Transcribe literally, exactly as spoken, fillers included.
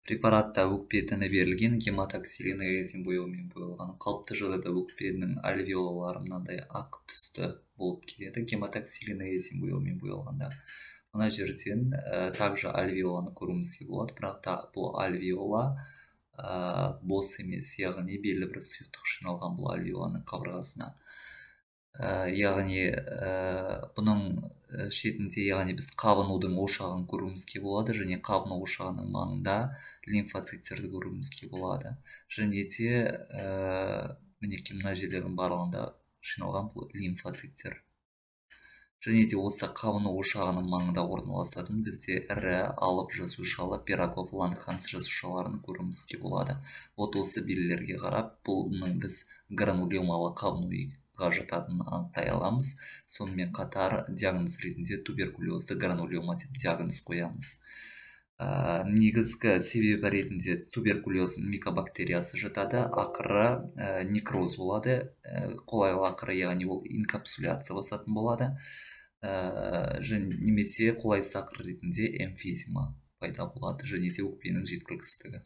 препаратта өкпе тіні берілген гематоксилиногенезин бояумен боялған. Қалыпты жағдайда өкпенің альвеолалары мынандай ақ түсті болып келеді, гематоксилиногенезин бояумен боялғанда. Мына жерден ә, также альвеоланы көруімізге болады, бірақ та бұл альвеола ә, бос емес, яғни белгілі бір сұйықтық жиналған бұл альвеоланың қабырғасына. Ә, яғни ә, бұның шетінде, яғни біз қабынудың ошағын көруімізге болады, және қабыну ошағының маңында лимфоциттерді көруімізге болады. Және де ә, мінекей мына жерлердің барлығында жиналған бұл лимфоциттер. Және де осы қабыну ошағының маңында орналасатын бізде ірі алып жасушалы пирогов лангханс жасушаларын көруімізге болады. Вот осы белгілерге қарап, бұның біз гранулемалы қабынуға жататынын анықтай аламыз. Сонымен қатар диагноз ретінде туберкулезді гранулема деп диагноз қоямыз. Ә, негізгі себебі ретінде туберкулез микобактериясы жатады, ақыры ә, некроз болады, ә, қолайлы ақыры, яғни ол инкапсуляция басатын болады. Ә, және немесе қолайсыз ақыр ретінде эмфизема пайда болады, және де өкпенің жеткіліксіздігі.